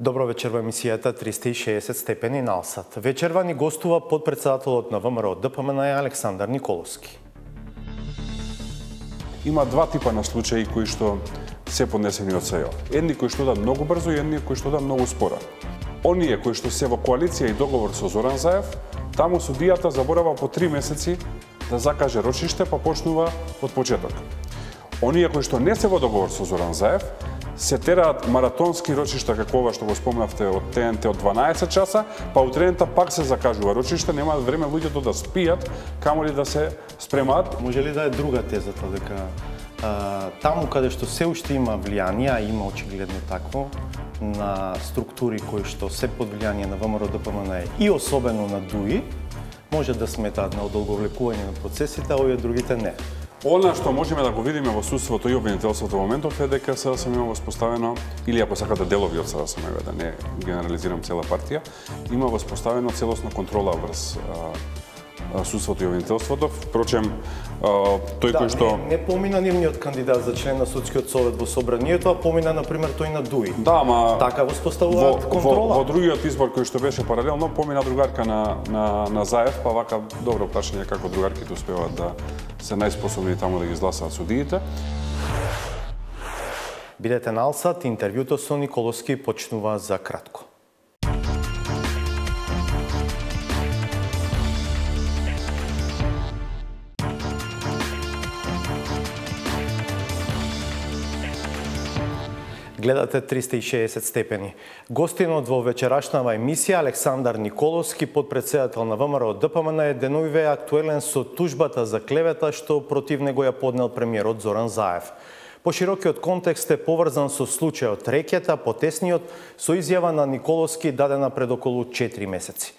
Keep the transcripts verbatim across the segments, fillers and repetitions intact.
Добро вечер во емисијата триста и шеесет степени на Алсат. Вечерва ни гостува подпредседателот на ВМРО Д П М Н Александар Николовски. Има два типа на случаи кои што се поднесени од С Е О. Едни кои што да многу брзо и едни кои што да многу споро. Оние кои што се во коалиција и договор со Зоран Заев, таму судијата заборава по три месеци да закаже рочиште, па почнува од почеток. Оние кои што не се во договор со Зоран Заев, се тераат маратонски рочишта, како ова што го спомнавте од Т Н Т од дванаесет часа, па утредента пак се закажува рочиште, немаат време луѓето да спијат, камоли да се спремаат. Може ли да е друга тезата, дека а, таму каде што се уште има влијание, а има очигледно такво, на структури кои што се под влијание на ВМРО Д П М Н и особено на Д У И, може да сметаат на одолговлекување на процесите, а овие другите не. Она што можеме да го видиме во судството и обвинителството во моментов е дека С Д С М има воспоставено, или ако сакате делови од С Д С М, да не генерализирам цела партија, има воспоставено целосна контрола врз судството и обвинителството. Впрочем, тој да, кој што... Не, не помина нивниот кандидат за член на судскиот совет во собранието, а помина, например, тој на Д У И. Да, ма... Така воспоставуваат контрола. Во, во, во другиот избор кој што беше паралелно, помина другарка на, на, на Заев, па вака добро прашање како другарките успеваат да се најспособни таму да ги изгласаат судиите. Бидете на Алсат, интервјуто со Николовски почнува за кратко. Гледате триста и шеесет степени. Гостинот во вечерашнава емисија Александар Николовски, подпредседател на ВМРО Д П М Н, денувиве актуелен со тужбата за клевета што против него ја поднел премиерот Зоран Заев. Поширокиот контекст е поврзан со случајот рекета, потесниот, со изјава на Николовски дадена пред околу четири месеци.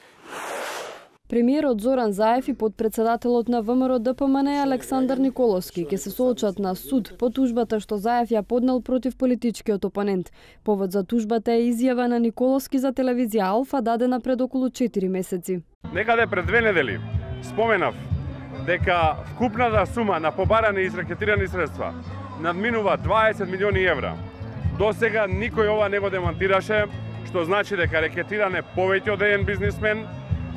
Премиерот Зоран Заев и подпредседателот на ВМРО Д П М Н Александар Николовски ќе се соочат на суд по тужбата што Заев ја поднел против политичкиот опонент. Повод за тужбата е изјава на Николовски за телевизија Алфа дадена пред околу четири месеци. Некаде пред две недели споменав дека вкупната сума на побарани и изракетирани средства надминува дваесет милиони евра. До сега никој ова не го демантираше, што значи дека рекетиране повеќе од еден бизнисмен,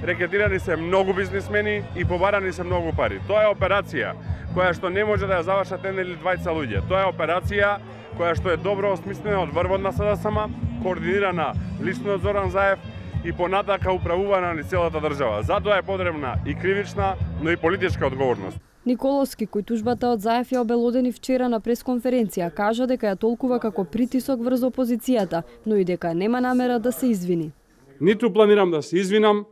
рекетирани се многу бизнисмени и побарани се многу пари. Тоа е операција која што не може да ја завршат еден или двајца луѓе. Тоа е операција која што е добро осмислена од врвот на С Д С М, координирана лично од Зоран Заев и понатака управувана ни целата држава. Затоа е потребна и кривична, но и политичка одговорност. Николовски, кој тужбата од Заев ја обелодени вчера на пресконференција, кажа дека ја толкува како притисок врз опозицијата, но и дека нема намера да се извини. Ниту планирам да се извинам,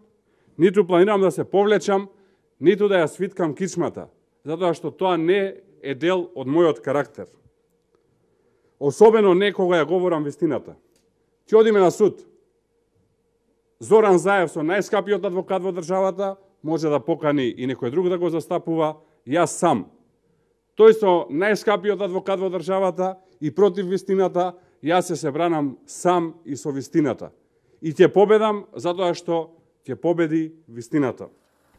ниту планирам да се повлечам, ниту да ја свиткам кичмата, затоа што тоа не е дел од мојот карактер. Особено не кога ја говорам вистината. Ќе одиме на суд. Зоран Заев со најскапиот адвокат во државата може да покани и некој друг да го застапува, јас сам. Тој со најскапиот адвокат во државата и против вистината, јас се се бранам сам и со вистината. И ќе победам затоа што ќе победи вистината.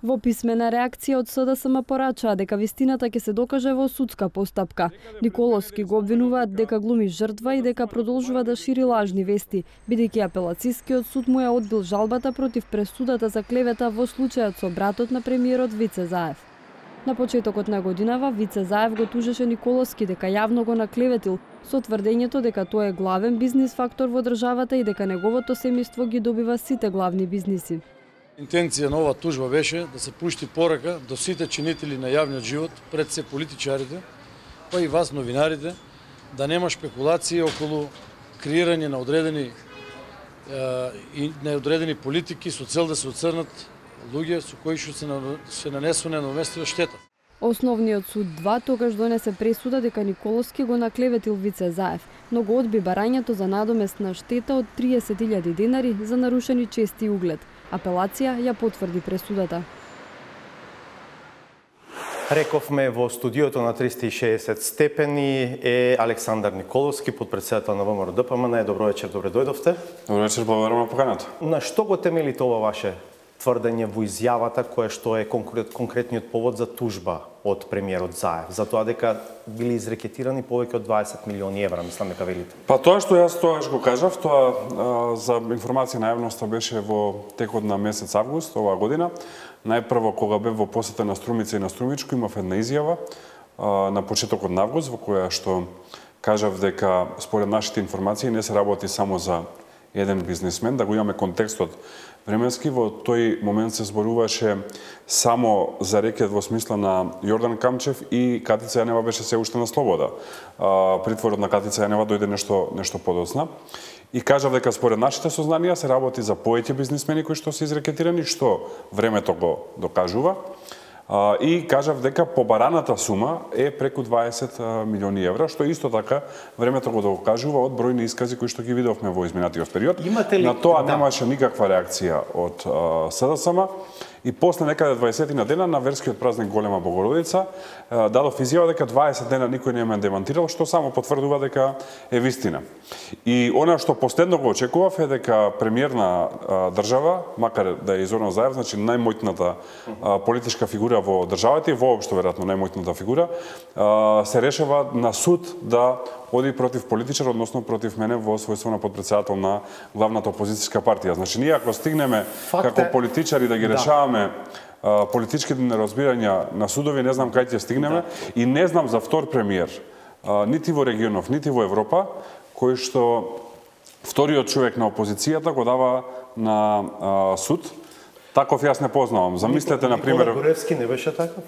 Во писмена реакција од С Д С М порачаа дека вистината ќе се докаже во судска постапка. Николовски го обвинуваат дека глуми жртва и дека продолжува да шири лажни вести, бидејќи апелацискиот суд му ја одбил жалбата против пресудата за клевета во случајот со братот на премиерот Вице Заев. На почетокот на годинава Вице Заев го тужеше Николовски дека јавно го наклеветил со тврдењето дека тој е главен бизнис фактор во државата и дека неговото семејство ги добива сите главни бизниси. Интенција на оваа тужба беше да се пушти порака до сите чинители на јавниот живот, пред се политичарите, па и вас новинарите, да нема спекулации околу креирање на одредени е, и неодредени политики со цел да се оцрнат луѓе со кои што се, се нанесува неуместива штета. Основниот суд два тогаш донесе пресуда дека Николовски го наклеветил Вице Заев, но го одби барањето за надоместна штета од триесет илјади денари за нарушени чести и углед. Апелација ја потврди пресудата. Рековме во студиото на триста и шеесет степени е Александар Николовски, подпредседател на ВМРО Д П М Н. Добро вечер, добре дојдовте. Добро вечер, благодарам на поканата. На што го темелите ова ваше тврдење во изјавата која што е конкрет, конкретниот повод за тужба од премиерот Заев, за тоа дека били изрекетирани повеќе од дваесет милиони евра, мислам дека велите. Па тоа што јас тоаш го кажав, тоа а, за информација на јавноста беше во текот на месец август оваа година. Најпрво кога бев во посета на Струмица и на Струмичко, имав една изјава а, на почетокот на август во која што кажав дека според нашите информации не се работи само за еден бизнисмен, да го имаме контекстот временски. Во тој момент се зборуваше само за рекет во смисла на Јордан Камчев и Катица Јанева беше се уште на слобода. А, притворот на Катица Јанева дојде нешто нешто подоцна. И кажав дека според нашите сознанија се работи за повеќе бизнисмени кои што се изрекетирани, што времето го докажува. Uh, и кажав дека побараната сума е преку дваесет милиони евра, што исто така времето го докажува од бројни искази кои што ги видовме во изминатиот период. Имате ли... На тоа да. немаше никаква реакција од uh, СДСМ. И после некаде дваесет дена на верскиот празник Голема Богородица дадов изјава дека дваесет дена никој не ме демантирал, што само потврдува дека е вистина. И она што последно го очекував е дека премиер на држава, макар да е Зоран Заев, значи најмоќната политичка фигура во државата и воопшто веројатно најмоќната фигура, се решава на суд да оди против политичар, односно против мене во својство на подпредседател на главната опозицијска партија. Значи ние ако стигнеме Факт како е... политичари да ги да. решаваме а, политичките неразбирања на судови, не знам кај ќе стигнеме да. И не знам за втор премиер, а, нити во регионов, нити во Европа, кој што вториот човек на опозицијата го дава на а, суд. Таков јас не познавам. Замислете на пример Никола Горевски не беше таков?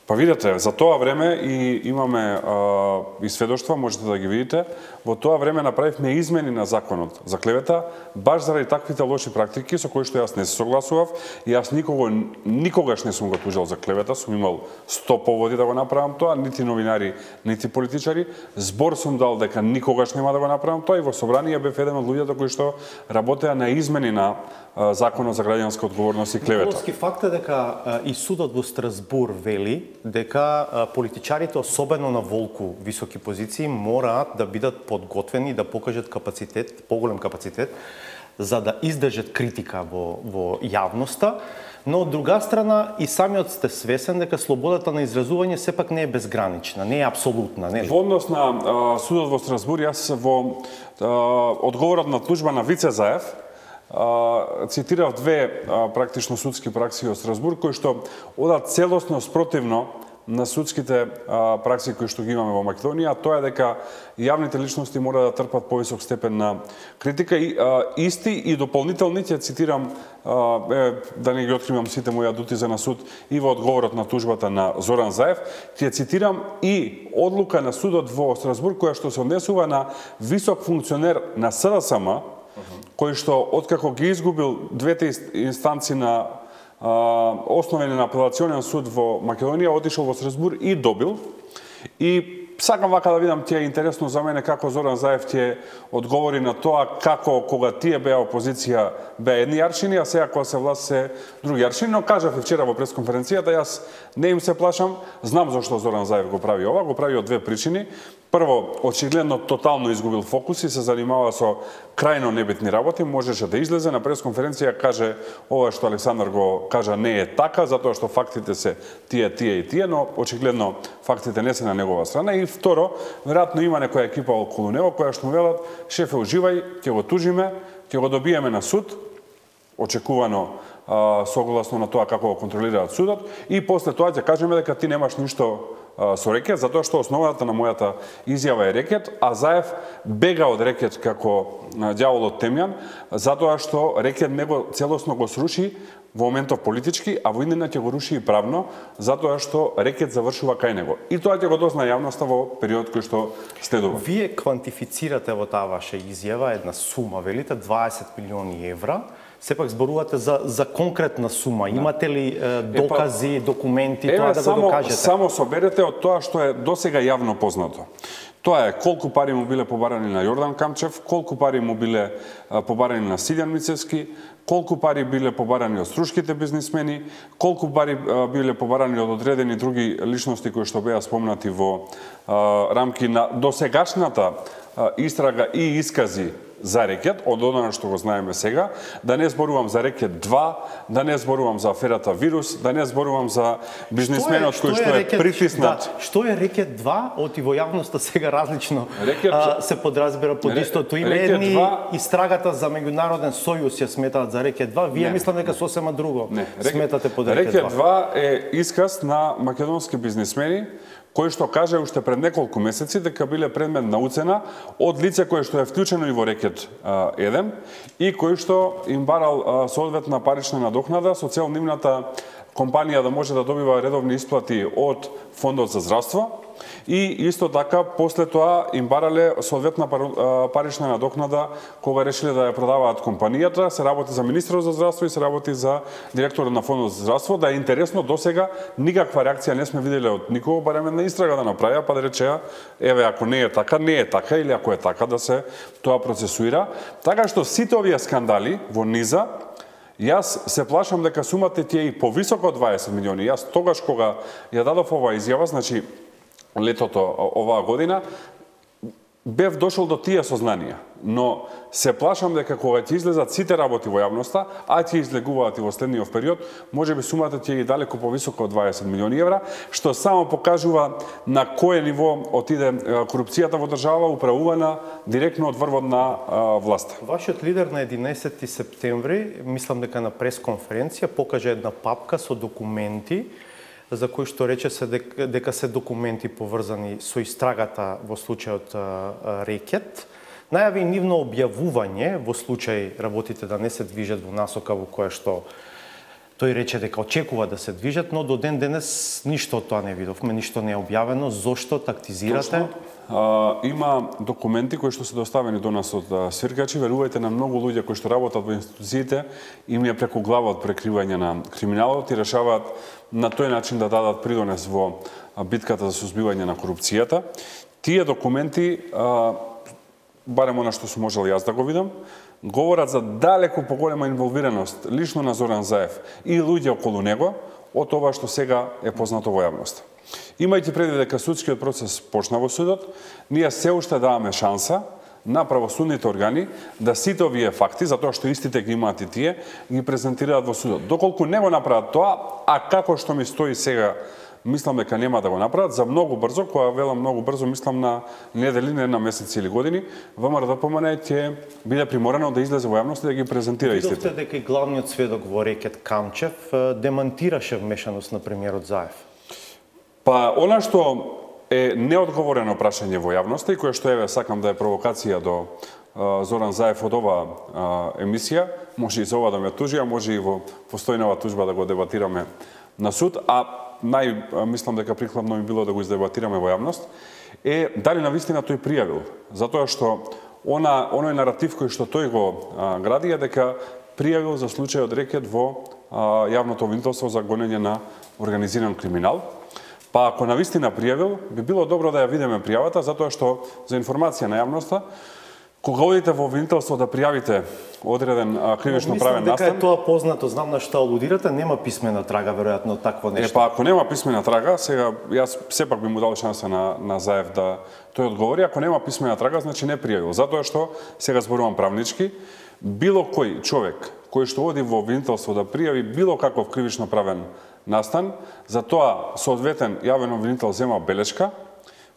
Па видете, за тоа време и имаме а, и сведоштва, можете да ги видите, во тоа време направивме измени на законот за клевета, баш заради таквите лоши практики со кои што јас не се согласував и јас никого, никогаш не сум го тужал за клевета, сум имал сто поводи да го направам тоа, нити новинари, нити политичари. Збор сум дал дека никогаш нема да го направам тоа и во собрание бев еден од луѓето кои што работеа на измени на а, законот за граѓанска одговорност и клевета. Николски факт е дека а, и судот во Страсбур вели дека а, политичарите, особено на волку високи позиции, мораат да бидат подготвени да покажат капацитет, поголем капацитет, за да издржат критика во, во јавноста, но од друга страна и самиот сте свесен дека слободата на изразување сепак не е безгранична, не е апсолутна, нели? Во однос на а, судот во Страсбур, јас во а, одговорот на тужба на Вице Заев а, цитирав две а, практично судски пракси од Страсбур кои што одат целосно спротивно на судските а, пракси кои што ги имаме во Македонија, а тоа е дека јавните личности мора да трпат повисок степен на критика и а, исти и дополнителни, ќе цитирам, а, е, да не ги откривам сите мои адути за на суд и во одговорот на тужбата на Зоран Заев, ќе цитирам и одлука на судот во Страсбург која што се однесува на висок функционер на СДСМ, кој што откако ги изгубил двете инстанци на основен на апелационен суд во Македонија, отишол во Страсбур и добил. И сакам вака да видам, ќе е интересно за мене како Зоран Заев ќе одговори на тоа како кога тие беа опозиција беа едни аршини, а сега кога се власт се други аршини. Но кажав и вчера во пресконференцијата, јас не им се плашам, знам зашто Зоран Заев го прави ова, го прави од две причини. Прво, очигледно тотално изгубил фокус и се занимава со крајно небитни работи, можеше да излезе на пресконференција, каже ова што Александар го кажа не е така, затоа што фактите се тие, тие и тие, но очигледно фактите не се на негова страна. И второ, веројатно има некоја екипа околу него која што му велат, шефе, уживај, ќе го тужиме, ќе го добиеме на суд, очекувано а, согласно на тоа како го контролираат судот, и после тоа ќе кажеме дека ти немаш ништо со рекет, затоа што основата на мојата изјава е рекет, а Заев бега од рекет како ѓаволот Темјан, затоа што рекет него целосно го сруши во моментов политички, а во иднина ќе го руши и правно, затоа што рекет завршува кај него. И тоа ќе го дозна јавноста во период кој што следува. Вие квантифицирате во таа ваша изјава една сума, велите дваесет милиони евра. Сепак зборувате за, за конкретна сума. Имате ли е, докази, документи, Еве, тоа да само, го докажете? Само соберете од тоа што е досега јавно познато. Тоа е колку пари му биле побарани на Јордан Камчев, колку пари му биле а, побарани на Силјан Мицевски, колку пари биле побарани од струшките бизнисмени, колку пари а, биле побарани од одредени други личности кои што беа спомнати во а, рамки на досегашната а, истрага и искази за рекет, од она што го знаеме сега, да не зборувам за рекет два, да не зборувам за аферата вирус, да не зборувам за бизнисменот кој што е притиснат. Да, што е рекет два, од и во јавноста сега различно рекет, а, се подразбира под истото име. Едни истрагата за меѓународен сојуз ја сметаат за рекет два, вие не, мислам дека сосема друго не, сметате под рекет два. Рекет два е исказ на македонски бизнисмени кој што каже уште пред неколку месеци дека биле предмет на уцена од лице кое што е вклучено и во рекет еден и кој што им барал соодветна парична надокнада со цел нивната компанија да може да добива редовни исплати од Фондот за здравство и исто така после тоа им барале соодветна парична надокнада кога решиле да ја продаваат компанијата, се работи за министерот за здравство и се работи за директорот на Фондот за здравство. Да е интересно, досега никаква реакција не сме виделе од никого, барем една истрага да направија, па да речеа, еве ако не е така, не е така, или ако е така да се тоа процесуира. Така што сите овие скандали во низа, јас се плашам дека сумата ти е и повисока од дваесет милиони. Јас тогаш кога ја дадов оваа изјава, значи летото оваа година, бев дошол до тие сознанија, но се плашам дека кога ќе излезат сите работи во јавноста, а ќе излегуваат и во следниот период, можеби сумата ќе е далеку повисока од дваесет милиони евра, што само покажува на кое ниво отиде корупцијата во држава, управувана директно од врвот на власта. Вашиот лидер на единаесети септември, мислам дека на пресконференција, покажа една папка со документи за кои што рече се дека, дека се документи поврзани со истрагата во случајот рекет. Најави нивно објавување во случај работите да не се движат во насока во која што тој рече дека очекува да се движат, но до ден денес ништо од тоа не видовме, ништо не е објавено. Зошто тактизирате? А, има документи кои што се доставени до нас од свиркачи, верувајте на многу луѓе кои што работат во институциите, им е преку глава од прекривање на криминалот и решаваат на тој начин да дадат придонес во битката за сузбивање на корупцијата. Тие документи, а, барем она што сум можел јас да го видам, говорат за далеку поголема инволвираност лично на Зоран Заев и луѓе околу него од тоа што сега е познато во јавноста. Имајќи преди дека судскиот процес почна во судот, ние се уште даваме шанса на правосудните органи да сите овие факти, затоа што истите ги имаат и тие, ги презентираат во судот. Доколку не го направат тоа, а како што ми стои сега, мислам дека нема да го направат, за многу брзо, која велам многу брзо, мислам на недели, не на месеци или години, ВМРО-ДПМН ќе биде приморано да излезе во јавност и да ги презентира истите. Видовте дека и главниот сведок во рекет Камчев демантираше вмешаност на премиерот Заев. Па, она што е неодговорено прашање во јавноста и кое што еве сакам да е провокација до а, Зоран Заев од оваа емисија, може и за ова да ме тужи, а може и во постојнава тужба да го дебатираме на суд, а нај мислам дека прикладно би било да го издебатираме во јавност, е дали навистина тој пријавил, затоа што она оној наратив кој што тој го а, гради е дека пријавил за случајот рекет во а, јавното обвинителство за гонење на организиран криминал. Па ако навистина пријавил, би било добро да ја видиме пријавата, затоа што за информација на јавноста, кога одите во обвинителство да пријавите одреден кривично правен настан, мислам дека е тоа познато, знам на што алудирате, нема писмена трага веројатно такво нешто. Е, па ако нема писмена трага, сега јас сепак би му дал шанса на на Заев да тој одговори, ако нема писмена трага, значи не пријавил, затоа што сега зборувам правнички, било кој човек кој што оди во обвинителство да пријави било каков кривично правен настан, за тоа соодветен јавен обвинител зема белешка,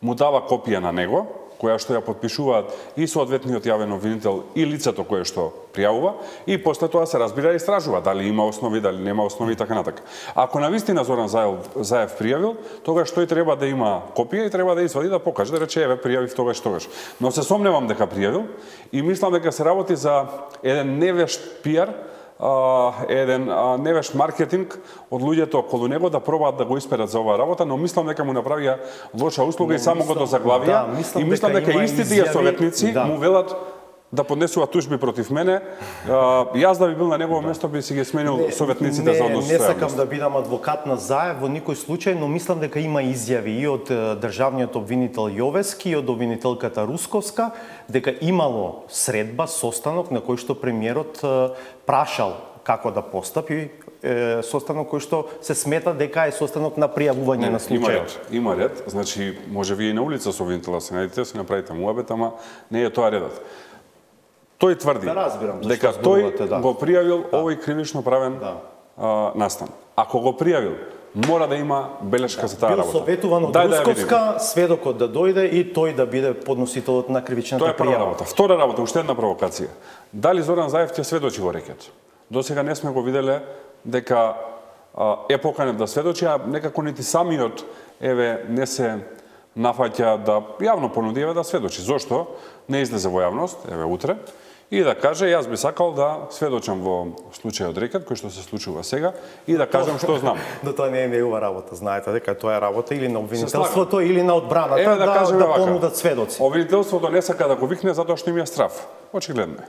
му дава копија на него, која што ја подпишуваат и соодветниот јавен обвинител и лицето кое што пријавува, и после тоа се разбира и истражува дали има основи, дали нема основи и така натака. Ако навистина Зоран Заев, Заев пријавил, тогаш тој треба да има копија и треба да извади да покаже, да рече еве пријавив тогаш тогаш. Но се сомневам дека пријавил и мислам дека се работи за еден невешт пиар, Uh, еден uh, невешт маркетинг од луѓето околу него да пробаат да го исперат за оваа работа, но мислам дека му направија лоша услуга но, и само мислам, го до заглавија да, мислам и мислам дека, дека истите ја советници да. му велат да поднесува тужби против мене. Uh, јас да би бил на негово да. место би си ги сменил не, советниците не, за однос. Не сакам да бидам адвокат на Заев во никој случај, но мислам дека има изјави и од државниот обвинител Јовески и од обвинителката Русковска дека имало средба, состанок на кој што премиерот прашал како да постапи, е, состанок кој што се смета дека е состанок на пријавување на случајот. Има ред, има ред, значи може вие и на улица со обвинителот се најдете, се направите муабет, ама не е тоа редот. тој тврди Да разбирам зашто дека зборувате, тој да. го пријавил овој кривично правен Да. а, настан. Ако го пријавил, мора да има белешка за таа Бил работа. советуван од Дај да ја Русковска, сведокот да дојде и тој да биде подносителот на кривичната Тоа е прва пријава. работа. Втора работа, уште една провокација. Дали Зоран Заев ќе сведочи во рекет? До сега не сме го виделе дека а, е поканет да сведочи, а некако нити самиот еве не се нафаќа да јавно понуди еве да сведочи. Зошто не излезе во јавност, еве утре, и да каже јас би сакал да сведочам во случајот рекет кој што се случува сега и да кажам што знам. Но тоа не е негова работа, знаете дека тоа е работа или на Се обвинителството или на одбраната Еве да, да, кажеме да вака. понудат сведоци. Обвинителството не сака да го викне затоа што им е страв. Очигледно е.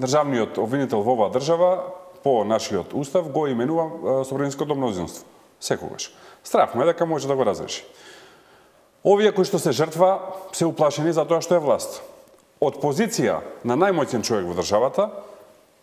Државниот обвинител во оваа држава по нашиот устав го именува собраниското мнозинство. Секогаш. Страв му е дека може да го разреши. Овие кои што се жртва се уплашени затоа што е власт. Од позиција на најмоćен човек во државата,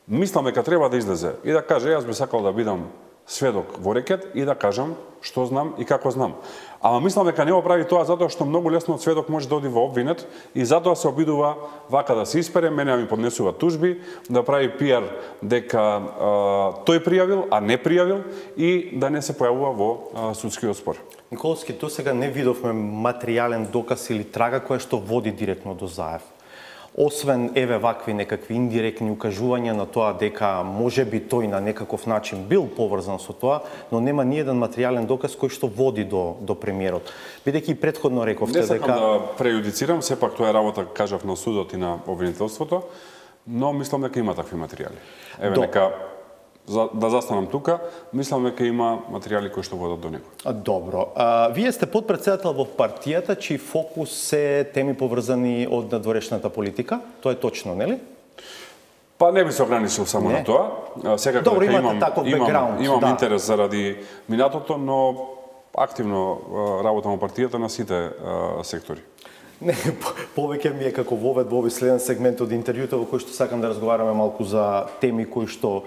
мислам дека треба да излезе и да каже јас би сакал да бидам сведок во рекет и да кажам што знам и како знам. Ама мислам дека не го прави тоа затоа што многу лесно од сведок може да оди во обвинет и затоа се обидува вака да се испере, мене ми поднесува тужби, да прави пиар дека а, тој пријавил, а не пријавил и да не се појавува во а, судскиот спор. Николовски, до сега не видовме материјален доказ или трага која што води директно до Заев. Освен еве вакви некакви индиректни укажувања на тоа дека можеби тој на некаков начин бил поврзан со тоа, но нема ни еден материјален доказ кој што води до до премиерот. Бидејќи предходно рековте Не сакам дека да прејудицирам, сепак тоа е работа, кажав, на судот и на обвинителството, но мислам дека има такви материјали. Еве До. нека за, да застанам тука, мислам дека има материјали кои што водат до него. А, добро. А, вие сте подпредседател во партијата чиј фокус се теми поврзани од надворешната политика. Тоа е точно, нели? Па не би се ограничил само Не. на тоа. А, Секако Добро, дека имате имам, таков имам, бекграунд, имам да. интерес заради минатото, но активно а, работам во партијата на сите а, сектори. Не, повеќе ми е како вовед во овој следен сегмент од интервјуто во кој што сакам да разговараме малку за теми кои што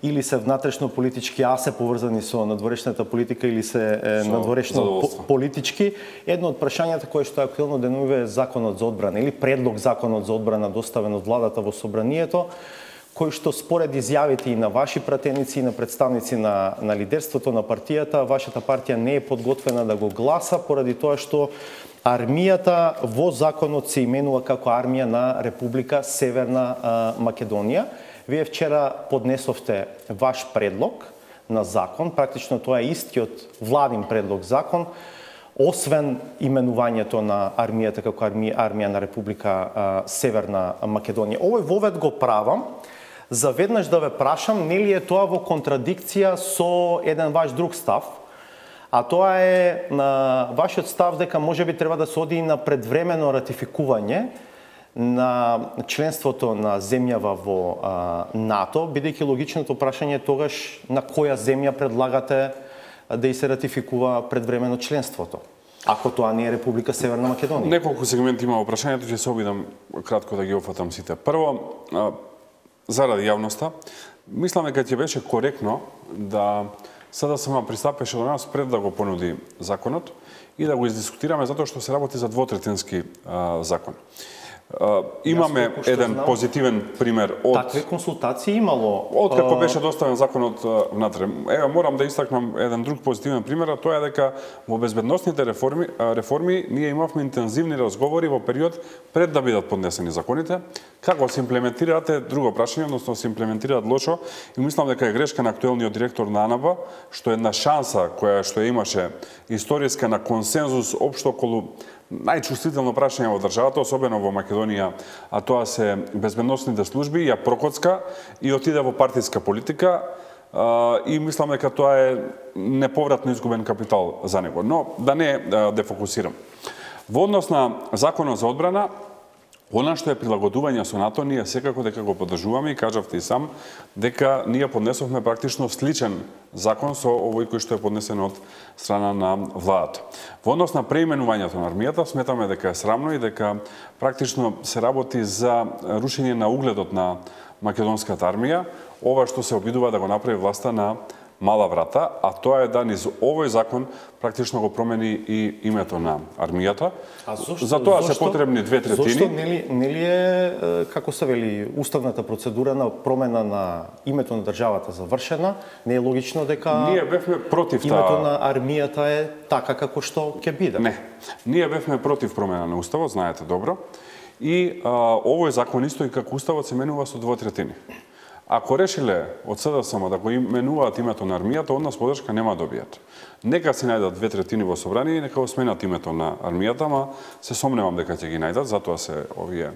или се внатрешно политички, а се поврзани со надворешната политика или се е, Со надворешно задоволство. по политички. Едно од прашањата кое што е актуелно денуве е законот за одбрана или предлог законот за одбрана доставен од владата во собранието, кој што според изјавите и на ваши пратеници и на представници на, на лидерството на партијата, вашата партија не е подготвена да го гласа поради тоа што армијата во законот се именува како армија на Република Северна а, Македонија. Вие вчера поднесовте ваш предлог на закон, практично тоа е истиот владин предлог закон, освен именувањето на армијата како армија, армија на Република а, Северна Македонија. Овој вовед го правам за веднаш да ве прашам, нели е тоа во контрадикција со еден ваш друг став, а тоа е на вашиот став дека можеби треба да се оди на предвремено ратификување на членството на земјава во а, НАТО, бидејќи логичното прашање е тогаш на која земја предлагате да и се ратификува предвремено членството, ако тоа не е Република Северна Македонија. Неколку сегменти има во прашањето, ќе се обидам кратко да ги офатам сите. Прво, а, заради јавноста, мислам дека ќе беше коректно да СДСМ пристапеше до нас пред да го понуди законот и да го издискутираме затоа што се работи за двотретински а, закон. Uh, имаме Јас, еден знам, позитивен пример од такви консултации имало. од како а, беше доставен законот uh, внатре. Ева морам да истакнам еден друг позитивен пример, а тоа е дека во безбедносните реформи uh, реформи ние имавме интензивни разговори во период пред да бидат поднесени законите. Како се имплементираат е друго прашање, односно се имплементираат лошо и мислам дека е грешка на актуелниот директор на АНАБА, што една шанса која што имаше историска на консензус општо околу најчувствително прашање во државата, особено во Македонија, а тоа се безбедносните служби, ја прокоцка и отиде во партиска политика а, и мислам дека тоа е неповратно изгубен капитал за него. Но да не а, дефокусирам. Во однос на законот за одбрана, она што е прилагодување со НАТО, ние секако дека го поддржуваме и кажавте и сам дека ние поднесовме практично сличен закон со овој кој што е поднесен од страна на владата. Во однос на преименувањето на армијата, сметаме дека е срамно и дека практично се работи за рушење на угледот на македонската армија, ова што се обидува да го направи власта на мала врата, а тоа е да низ овој закон практично го промени и името на армијата. А зошто, За тоа зошто, се потребни две третини. Зошто нели нели е, како се вели, уставната процедура на промена на името на државата завршена? Не е логично дека Ние бевме против таа. Името на армијата е така како што ќе биде. Не. Ние бевме против промена на уставот, знаете добро. И а, овој закон исто и како уставот се менува со двотретини. Ако решиле од СДСМ да го именуваат името на армијата, од нас подршка нема да добијат. Нека си најдат две третини во собрание и нека го сменат името на армијата, ма се сомневам дека ќе ги најдат, затоа се овие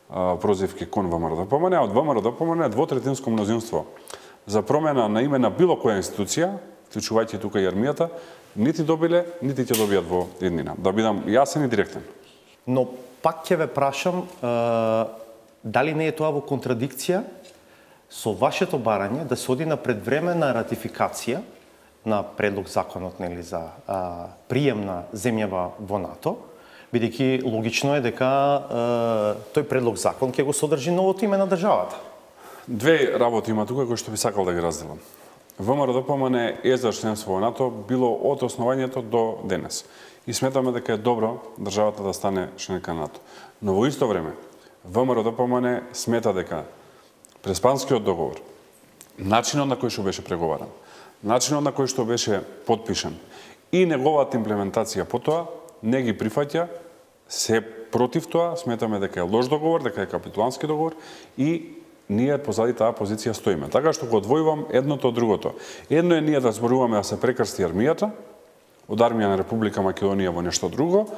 а, прозивки кон ВМРО-ДПМН, а од ВМРО-ДПМН двотретинско мнозинство за промена на име на било која институција, вклучувајќи тука и армијата, нити добиле, нити ќе добијат во иднина. Да бидам јасен и директен. Но пак ќе ве прашам, е, дали не е тоа во контрадикција со вашето барање да се оди на предвременна ратификација на предлог законот, нели, за а, прием на земјава во НАТО, бидејќи логично е дека а, тој предлог закон ќе го содржи новото име на државата. Две работи има тука кои што би сакал да ги разделам. ВМРО-ДПМН е за членство во НАТО било од основањето до денес. И сметаме дека е добро државата да стане членка на НАТО. Но во исто време, ВМРО-ДПМН смета дека Преспанскиот договор, начинот на кој што беше преговаран, начинот на кој што беше потпишан и неговата имплементација по тоа не ги прифаќа, се против тоа, сметаме дека е лош договор, дека е капитулански договор и ние позади таа позиција стоиме. Така што го одвојувам едното од другото. Едно е ние да зборуваме да се прекрсти армијата од армија на Република Македонија во нешто друго,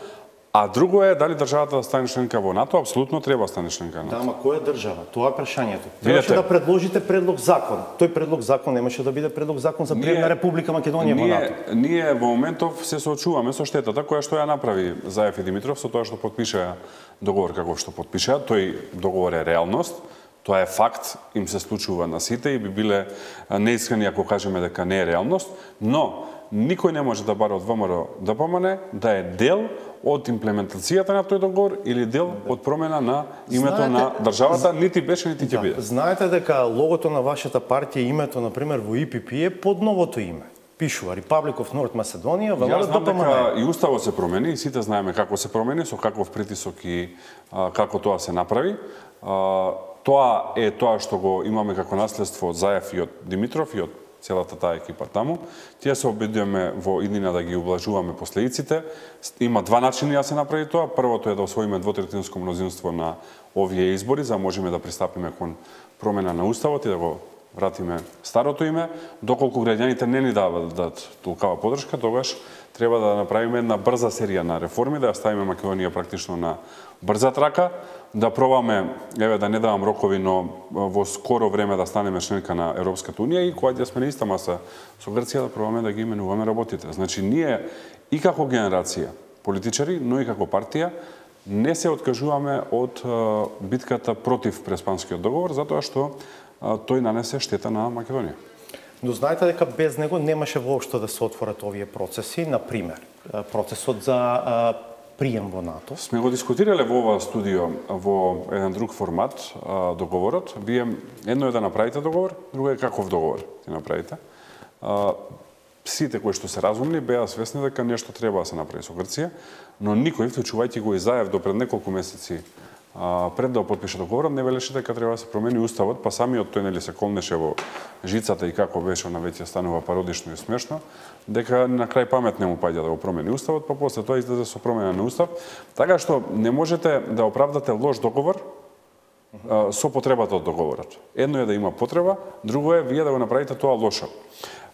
а друго е дали државата да стане членка во НАТО, апсолутно треба да стане членка на НАТО. Да, ама која држава? Тоа е прашањето. Требаше да предложите предлог закон. Тој предлог закон немаше да биде предлог закон за прием на Република Македонија во НАТО. Ние во моментов се соочуваме со штетата која што ја направи Заев и Димитров со тоа што потпишаа договор како што потпишаа. Тој договор е реалност. Тоа е факт, им се случува на сите и би биле неискрени ако кажеме дека не е реалност, но никој не може да бара од ВМРО-ДПМН да е дел од имплементацијата на тој договор или дел од промена на името знаете, на државата, нити беше, нити ќе да, биде. Знаете дека логото на вашата партија, името, например, во И Пи Пи е под новото име. Пишува Republic of North Macedonia, ВМРО-ДПМН. Јас знам дека и уставот се промени, и сите знаеме како се промени, со каков притисок и а, како тоа се направи. А, тоа е тоа што го имаме како наследство од Заев и од Димитров и од целата таа екипа таму. Тие се обидуваме во иднина да ги ублажуваме последиците. Има два начини да се направи тоа. Првото е да освоиме двотретинско мнозинство на овие избори, за да можеме да пристапиме кон промена на уставот и да го вратиме старото име. Доколку граѓаните не ни дават да толкава поддршка, тогаш треба да направиме една брза серија на реформи, да ја ставиме Македонија практично на брза трака, да пробаме, еве да не давам рокови, но во скоро време да станеме членка на Европската унија и кога ќе сме на иста маса со Грција да пробаме да ги именуваме работите. Значи ние и како генерација политичари, но и како партија не се откажуваме од битката против Преспанскиот договор, затоа што тој нанесе штета на Македонија. Но знаете дека без него немаше воопшто да се отворат овие процеси, на пример, процесот за прием во НАТО. Сме го дискутирале во ова студио во еден друг формат договорот. Вие едно е да направите договор, друго е каков договор ќе направите. Сите кои што се разумни беа свесни дека нешто треба да се направи со Грција, но никој, вклучувајќи го и Заев до пред неколку месеци пред да подпише договорот, не велеше дека треба да се промени уставот, па самиот тој нели се колнеше во жицата и како беше на веќе станува пародично и смешно, дека на крај памет не му паѓа да го промени уставот, па после тоа излезе со промена на устав. Така што не можете да оправдате лош договор со потребата од договорот. Едно е да има потреба, друго е вие да го направите тоа лошо.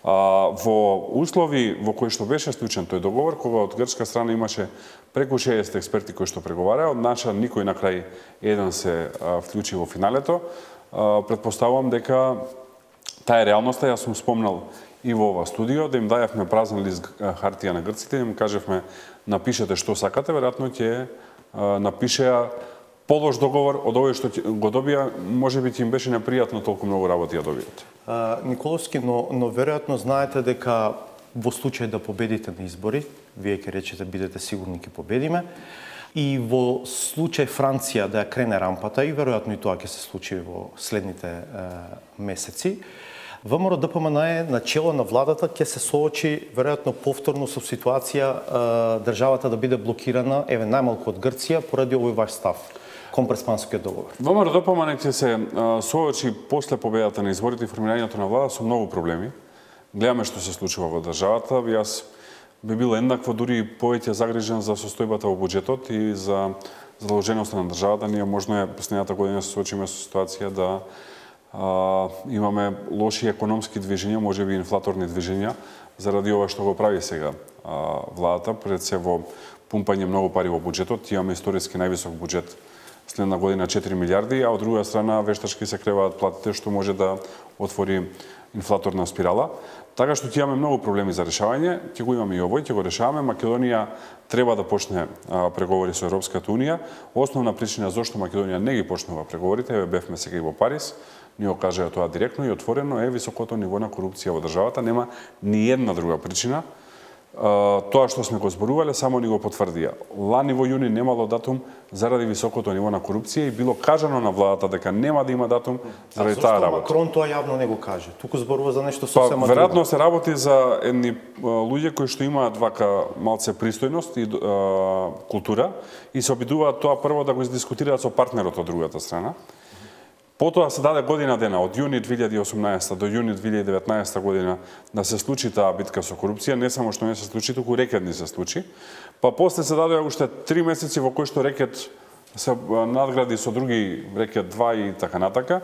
Во услови во кои што беше склучен тој договор, кога од грчка страна имаше преку шеесет експерти кои што преговараа, од наша никој на крај еден се вклучи во финалето, претпоставувам дека таа е реалноста. Јас сум спомнал и во ова студио да им дајавме празен лист хартија на грците, им кажевме напишете што сакате, веројатно ќе напишеа полош договор од овој што го добија, можеби ќе им беше непријатно толку многу работи ја добијат. Николовски, но, но веројатно знаете дека во случај да победите на избори, вие ќе речете бидете сигурни ќе победиме, и во случај Франција да ја крене рампата, и веројатно и тоа ќе се случи во следните е, месеци, ВМРО Д П М Н е начело на владата ќе се соочи веројатно повторно со ситуација а, државата да биде блокирана, еве најмалку од Грција, поради овој ваш став кон Преспанскиот договор. ВМРО Д П М Н ќе се а, соочи после победата на изборите и формирањето на влада со многу проблеми. Гледаме што се случува во државата. Јас би бил еднакво, дури и повеќе загрижен за состојбата во буџетот и за задолженоста на државата. Ние можно е последната година се соочиме со ситуација да а, имаме лоши економски движења, можеби инфлаторни движења, заради ова што го прави сега а, владата, пред се во пумпање многу пари во буџетот. Имаме историски највисок буџет следна година четири милијарди, а од друга страна вештачки се креваат платите, што може да отвори инфлаторна спирала. Така што ќе имаме многу проблеми за решавање, ќе го имаме и овој, ќе го решаваме. Македонија треба да почне а, преговори со Европската унија. Основна причина зошто Македонија не ги почнува преговорите, еве бевме сега и во Париз, ни го кажаа тоа директно и отворено, е високото ниво на корупција во државата, нема ни една друга причина. Uh, тоа што сме го зборувале само ни го потврдија. Лани во јуни немало датум заради високото ниво на корупција и било кажано на владата дека нема да има датум заради таа работа. Макрон тоа јавно не го каже? Туку зборува за нешто Па, сосема веројатно друго. се работи за едни луѓе кои што имаат вака малце пристојност и uh, култура и се обидуваат тоа прво да го издискутираат со партнерот од другата страна. Потоа се даде година дена, од јуни две илјади и осумнаесета до јуни две илјади и деветнаесета година, да се случи таа битка со корупција, не само што не се случи, туку рекет не се случи. Па после се даде уште три месеци во кои што рекет се надгради со други рекет два и така натака.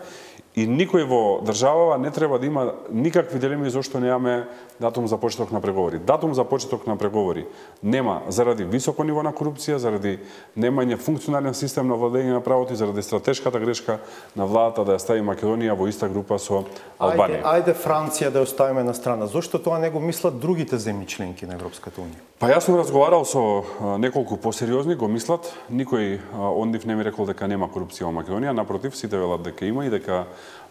И никој во државава не треба да има никакви дилеми зошто немаме датум за почеток на преговори. Датум за почеток на преговори нема заради високо ниво на корупција, заради немање функционален систем на владење на правото и заради стратешката грешка на владата да ја стави Македонија во иста група со Албанија. Ајде, ајде Франција да ја оставиме на страна. Зошто тоа не го мислат другите земји членки на Европската унија? Па јас сум разговарал со а, неколку посериозни, го мислат. Никој а, од нив не ми рекол дека нема корупција во Македонија, напротив, сите велат дека има и дека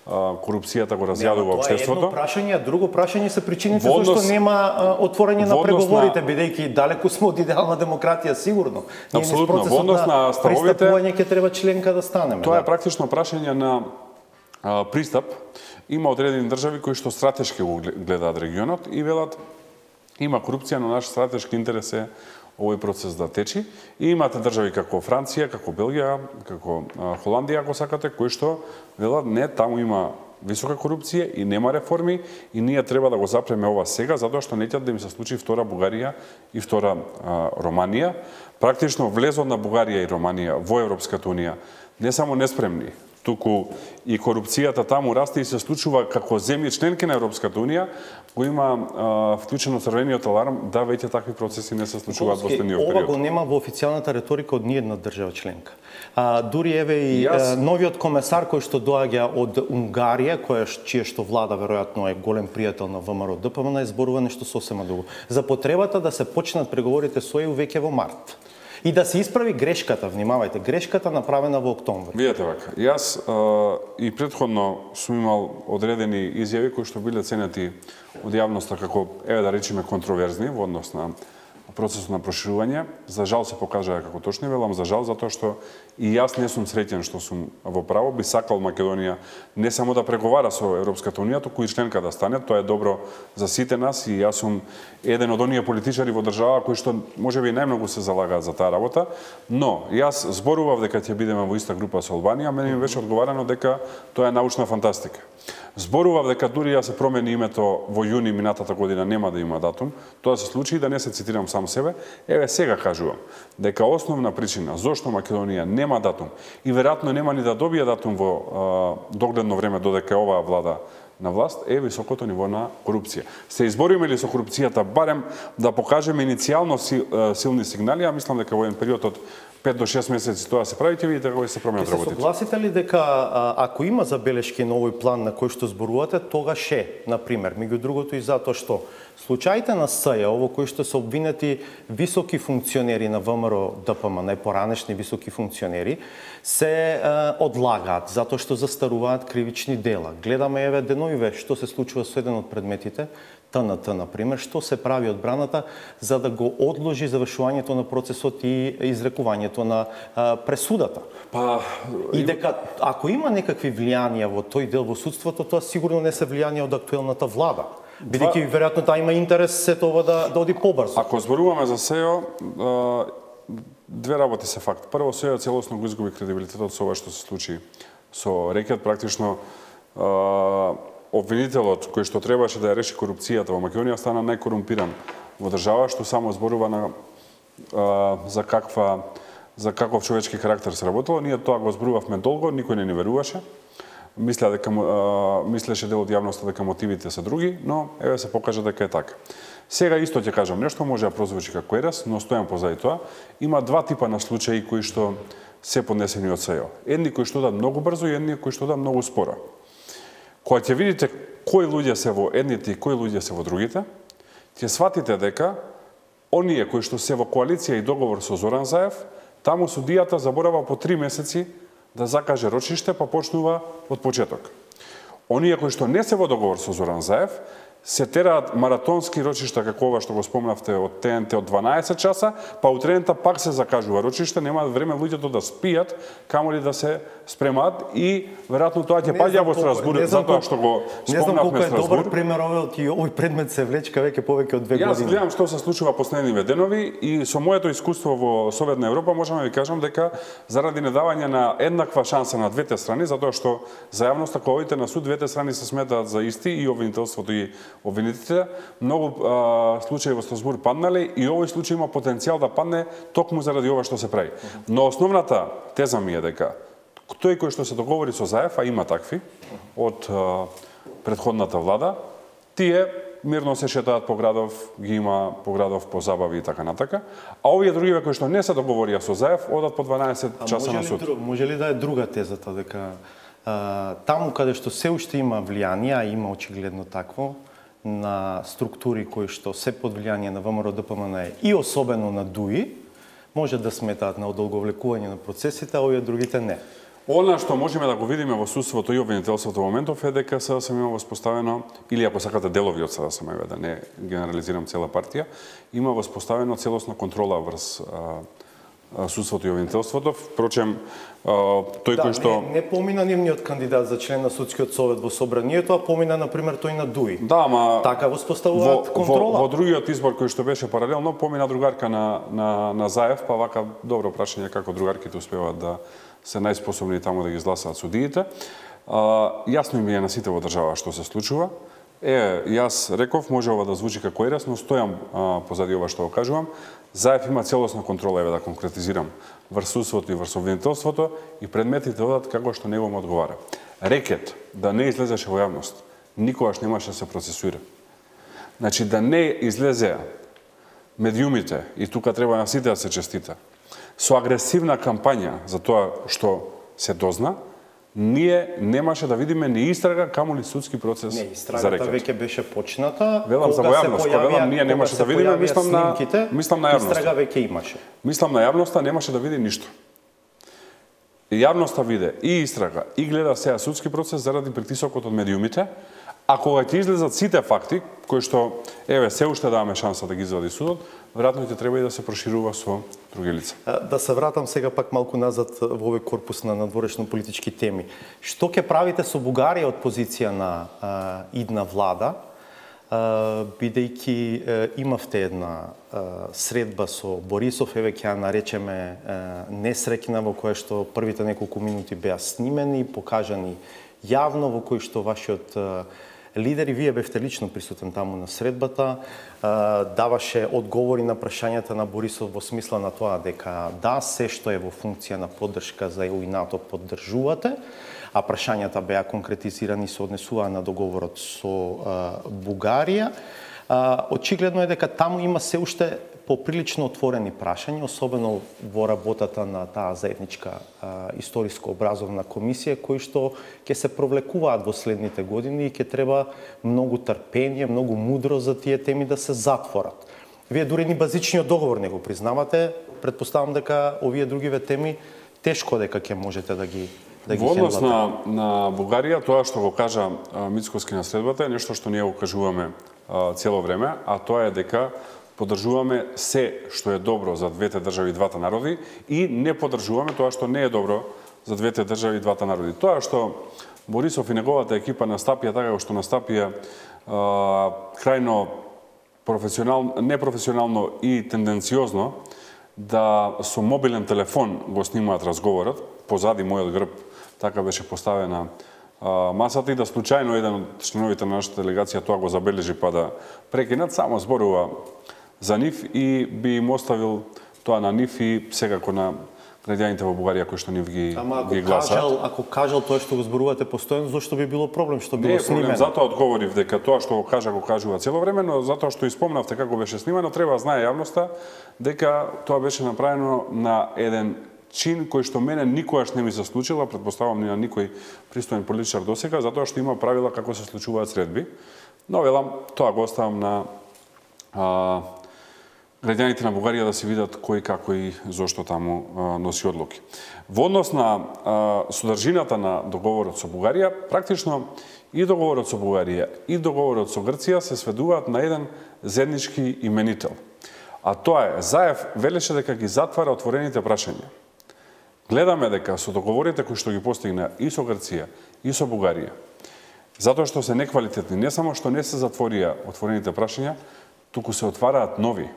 корупцијата го разјадува општеството. Тоа е едно прашање, а друго прашање се причините однос, зашто нема а, отворање на преговорите, на... бидејќи далеку сме од идеална демократија, сигурно. Апсолутно, во однос на ставовите пристапување ќе треба членка да станеме. Тоа да. е практично прашање на а, пристап. Има одредени држави кои што стратешки го гледаат регионот и велат има корупција, но наш стратешки интерес е овој процес да течи. И имате држави како Франција, како Белгија, како Холандија, ако сакате, кои што велат не, таму има висока корупција и нема реформи и ние треба да го запреме ова сега, затоа што не ќе да им се случи втора Бугарија и втора а, Романија. Практично влезот на Бугарија и Романија во Европската унија не само неспремни, туку и корупцијата таму расте и се случува како земји членки на Европската унија, го има а, вклучено црвениот аларм да веќе такви процеси не се случуваат во следниот период. Ова го нема во официјалната реторика од ниедна држава членка. А, дури еве и Јас... новиот комесар кој што доаѓа од Унгарија, која чие што влада веројатно е голем пријател на ВМРО Д П М Н, зборува нешто сосема друго. За потребата да се почнат преговорите со ЕУ веќе во март. И да се исправи грешката, внимавајте, грешката направена во октомври. Видете вака, јас а, и претходно сум имал одредени изјави кои што биле ценети од јавноста како, еве да речеме, контроверзни во однос на процесот на проширување. За жал се покажаа како точни, велам за жал, затоа што и јас не сум среќен што сум во право. Би сакал Македонија не само да преговара со Европската унија, туку и членка да стане. Тоа е добро за сите нас и јас сум еден од оние политичари во држава кои што можеби најмногу се залагаат за таа работа. Но јас зборував дека ќе бидеме во иста група со Албанија, мене ми беше одговарано дека тоа е научна фантастика. Зборував дека дури ја се промени името во јуни минатата година нема да има датум. Тоа се случи и да не се цитирам сам себе. Еве сега кажувам дека основна причина зошто Македонија нема датум и веројатно нема ни да добие датум во а, догледно време додека е оваа влада на власт е високото ниво на корупција. Се избориме ли со корупцијата барем да покажеме иницијално силни сигнали, а мислам дека во еден период од пет до шест месеци тоа се прави, ќе видите како се променат работите. Се согласите ли дека а, ако има забелешки на овој план на кој што зборувате, тогаш е, на пример, меѓу другото и затоа што случаите на СЈО во кои што се обвинети високи функционери на ВМРО Д П М, најпоранешни високи функционери, се а, одлагаат затоа што застаруваат кривични дела. Гледаме еве деновиве што се случува со еден од предметите, Т Н Т, например, што се прави одбраната за да го одложи завршувањето на процесот и изрекувањето објавувањето на а, пресудата. Па и дека ако има некакви влијанија во тој дел во судството, тоа сигурно не се влијанија од актуелната влада. Бидејќи веројатно таа има интерес сето ова да, да оди побрзо. Ако зборуваме за СЕО, две работи се факт. Прво, СЕО целосно го изгуби кредибилитетот со ова што се случи со Рекет. Практично обвинителот кој што требаше да ја реши корупцијата во Македонија стана најкорумпиран во држава, што само зборува на за каква за каков човечки карактер се работело. Ние тоа го зборувавме долго, никој не ни веруваше. Мисля дека мислеше дел од јавноста дека мотивите се други, но еве се покажа дека е така. Сега исто ќе кажам нешто, може да прозвучи како ерес, но стојам позади тоа. Има два типа на случаи кои што се поднесени од СЕО. Едни кои што да многу брзо и едни кои што да многу споро. Кога ќе видите кои луѓе се во едните и кои луѓе се во другите, ќе сватите дека оние кои што се во коалиција и договор со Зоран Заев, таму судијата заборава по три месеци да закаже рочиште, па почнува од почеток. Оние кои што не се во договор со Зоран Заев, се тераат маратонски рочишта, како ова што го спомнавте од ТНТ од дванаесет часа, па утрената пак се закажува рочиште, немаат време луѓето да спијат, камоли да се спремаат и веројатно тоа ќе паѓа во Страсбург, затоа што го спомнавме Страсбург. Не знам колку е добар пример овој и овој предмет се влечка веќе повеќе од две години. Јас гледам што се случува последниве денови и со моето искуство во Советна Европа можам да ви кажам дека заради недавање на еднаква шанса на двете страни, затоа што за јавноста кога одите на суд двете страни се сметаат за исти и обвинителството и обвинителите, многу а, случаи во Страсбург паднале и овој случај има потенцијал да падне токму заради ова што се прави. Но основната теза ми е дека тој кој што се договори со Заев, а има такви од а, претходната влада, тие мирно се шетаат по градов, ги има по градов по забави и така натака, а овие другиве кои што не се договорија со Заев одат по дванаесет часа на суд. Друг, може ли да е друга тезата дека а, таму каде што се уште има влијание, а има очигледно такво, на структури кои што се под влијание на ВМРО-ДПМН и особено на ДУИ, може да сметаат на одолговлекување на процесите, а овие другите не. Она што можеме да го видиме во судството и обвинителството во моментов е дека СДСМ има воспоставено, или ако сакате делови од СДСМ, да не генерализирам цела партија, има воспоставено целосна контрола врз судството и обвинителството. Впрочем, тој да, кој што... Не, не помина нивниот кандидат за член на судскиот совет во собранието, а помина, например, тој на ДУИ. Да, ама... Така воспоставуваат контрола. Во, во другиот избор кој што беше паралелно, помина другарка на, на, на Заев, па вака добро прашање како другарките успеваат да се најспособни таму да ги изгласаат судиите. А, јасно ми е на сите во држава што се случува. Е, јас реков, може ова да звучи како ерес, но стојам а, позади ова што го кажувам. Заев има целосна контрола, еве да конкретизирам, врз судството и врз обвинителството и предметите одат како што него му одговара. Рекет да не излезеше во јавност, никогаш немаше да се процесуира. Значи да не излезе медиумите, и тука треба на сите да се честита, со агресивна кампања за тоа што се дозна, ние немаше да видиме ни истрага, камоли судски процес не, за истрагата Рекет. веќе беше почната. Велам за војавност, кога велам ние немаше да видиме, мислам на снимките, мислам на јавноста. Истрага веќе имаше. Мислам на јавноста немаше да види ништо. И јавноста виде и истрага и гледа сега судски процес заради притисокот од медиумите, а кога ќе излезат сите факти кои што еве се уште даваме шанса да ги извади судот, веројатно ќе треба и да се проширува со други лица. Да се вратам сега пак малку назад во овој корпус на надворешно политички теми. Што ќе правите со Бугарија од позиција на а, идна влада, а, бидејќи а, имавте една а, средба со Борисов, еве ќе ја наречеме а, несреќна, во која што првите неколку минути беа снимени, покажани јавно, во кој што вашиот а, лидер, и вие бевте лично присутен таму на средбата, даваше одговори на прашањата на Борисов во смисла на тоа дека да, се што е во функција на поддршка за Е У и НАТО поддржувате, а прашањата беа конкретизирани се однесуваа на договорот со Бугарија. Очигледно е дека таму има се уште поприлично отворени прашања, особено во работата на таа заедничка историско-образовна комисија, кои што ќе се провлекуваат во следните години и ќе треба многу трпение, многу мудро за тие теми да се затворат. Вие дури ни базичниот договор не го признавате, предпоставам дека овие другиве теми тешко дека ќе можете да ги да ги Во однос на, на Бугарија, тоа што го кажа Мицкоски на средбата е нешто што ние го кажуваме а, цело време, а тоа е дека Поддржуваме се што е добро за двете држави и двата народи и не поддржуваме тоа што не е добро за двете држави и двата народи. Тоа што Борисов и неговата екипа настапија така што настапија крајно професионално, непрофесионално и тенденциозно да со мобилен телефон го снимаат разговорот, позади мојот грб така беше поставена а, масата и да случајно еден од членовите на нашата делегација тоа го забележи па да прекинат, само зборува за нив и би им оставил тоа на нив и секако на граѓаните во Бугарија кои што нив ги, Ама, ги гласат. Кажал, ако кажал тоа што го зборувате постојано, зошто би било проблем што било не, снимено? Не, затоа одговорив дека тоа што го кажа го кажува цело време, но затоа што испомнавте како беше снимано, треба да знае јавноста дека тоа беше направено на еден чин кој што мене никогаш не ми се случила, претпоставам ни на никој пристоен политичар досега, затоа што има правила како се случуваат средби. Но велам, тоа го оставам на а, граѓаните на Бугарија да се видат кој како и зошто таму а, носи одлуки. Во однос на а, содржината на договорот со Бугарија, практично и договорот со Бугарија и договорот со Грција се сведуваат на еден заеднички именител. А тоа е, Заев велеше дека ги затвара отворените прашања. Гледаме дека со договорите кои што ги постигна и со Грција и со Бугарија, затоа што се неквалитетни, не само што не се затворија отворените прашања, туку се отвараат нови.